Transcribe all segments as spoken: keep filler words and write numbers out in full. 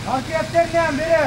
Paketlerden biri.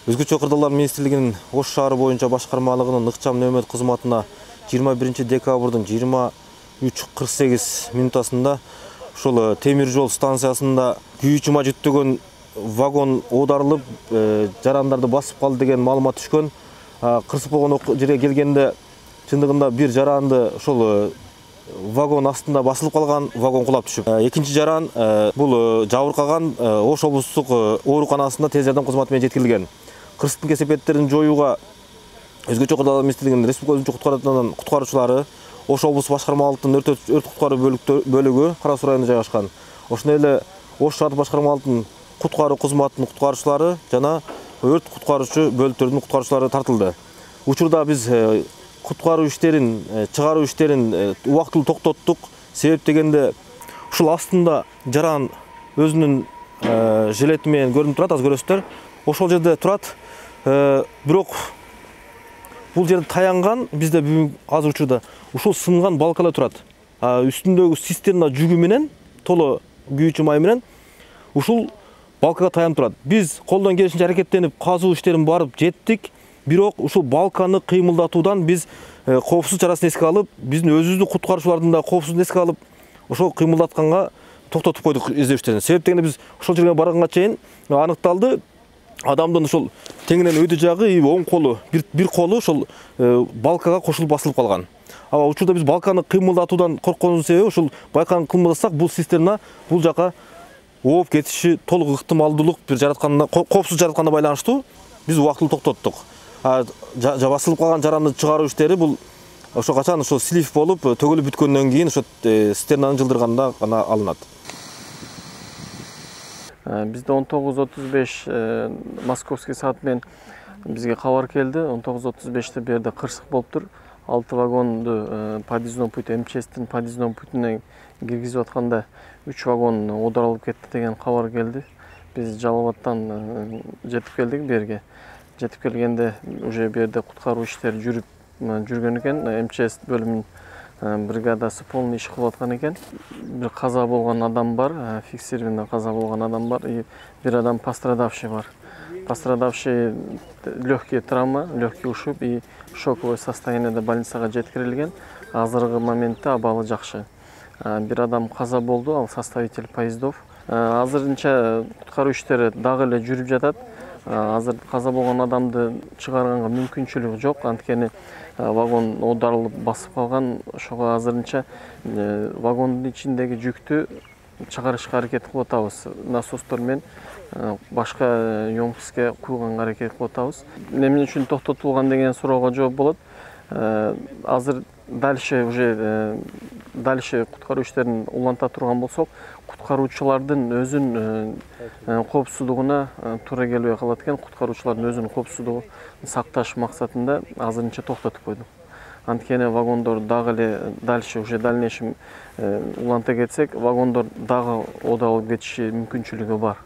Өзгөчө кырдаалар министрлигинин Ош шаары боюнча башкармалыгынын ыкчам нөөмөт кызматына жыйырма биринчи декабрдын жыйырма үч кырк сегиз минутасында ушул темир жол станциясында күйүүчү май жүктөгөн вагон оодарылып, жарандарды басып калды деген маалымат түшкөн. Кырсык болгон жерге келгенде чындыгында бир жаранды ошол вагон астында басылып калган, вагон кулап түшүп. Экинчи жаран бул жабыркаган Ош облустук ооруканасында тез жардам кызматы менен жеткирилген. Кырсыктын кесепеттерин жоюуга өзгөчө кырдаалар министрлигинин республика өзүнчө куткаруучуларынын куткаруучулары Ош облустук башкармалыктын өрт куткаруу бөлүгү Кара Суу районунда жайгашкан. Ошондой эле Ош шаардык башкармалыктын куткаруу кызматынын куткаруучулары жана өрт куткаруучу бөлүктөрдүн куткаруучулары тартылды. Учурда биз куткаруу иштерин, чыгаруу иштерин убактылуу токтоттук. Себеп дегенде ушул астында жаран өзүнүн жилети менен көрүнүп турат, аз көрөсүздөр. Ошол жерде турат. Бирок бул жерде таянган бизде бүгүн азыр учурда ушул сынган балкалар турат. Үстүндөгү цистерна жүгү менен, толо күйүүчү май менен ушул балкага таянып турат. Биз колдон келишинче аракеттенип казуу иштерин барып жеттик. Бирок ушул балканы кыймылдатуудан биз коопсуз чарасын эске алып, биздин өзүбүздүн куткаруучулардын да коопсуздугун эске алып, ошол кыймылдатканга токтотуп койдук издөөчтөрүн. Себеп дегенде биз ошол жерге барганга чейин аныкталды. Адамдын ошол теңинен өйдө жагы, оң колу, бир бир колу ошол балкага кошулуп басылып калган. Аба учурда биз балканы кыймылдатуудан коркконубуздун себеби ушул балканы кыймылдатсак бул цистерна бул жака ооп кетиши толук ыктымалдуулук бир жаратканына, коопсуз жаратканына байланыштуу биз убактылуу токтоттук. Басылып калган жаранды чыгаруу иштери бул ошо качан ошол слив болуп төгүлүп бүткөндөн кийин ошо цистернаны жылдырганда гана алынат. Бизде он тогуз отуз беш московский саат менен бизге кабар келди. он тогуз отуз беште бу жерде кырсык болуптур. алты вагонду подъездной путь МЧСтин подъездной путуна киргизип атканда үч вагон оодарылып кетти деген кабар келди. Биз Жалал-Абадтан жетип келдик бу жерге. Жетип келгенде уже бу жерде куткаруу иштери жүрүп жүргөн экен. МЧС бөлүмүнүн бригадасы полный иш кылып аткан экен. Бир каза болгон адам бар, фиксированный каза болгон адам бар, и бир адам пострадавший бар. Пострадавший легкий травма, легкий ушиб и шоковое состояниеде больницага жеткирилген. Азыркы моментте абалы жакшы. Бир адам каза болду, ал составитель поездов. Азырынча куткаруу иштери дагы эле жүрүп жатат. Азыр каза болгон адамды чыгарганга мүмкүнчүлүк жок, анткени вагон оодарылып басып калган. Ошого азырынча вагондун ичиндеги жүктү чыгарышка аракет кылып атабыз. Насостор менен башка емкостке куйганга аракет кылып атабыз. Эмне үчүн токтотулган деген суроого жооп болот. Азыр дальше уже дальше куткаруу иштерин уланта турган болсок, куткаруучулардын өзүнүн коопсуздугуна туура келбей калат экен. Куткаруучулардын өзүнүн коопсуздугун сакташ максатында азырынча токтотуп койдук. Анткени вагондор дагы эле дальше уже дальнейшем уланта кетсек, вагондор дагы оодарылып кетиши мүмкүнчүлүгү бар.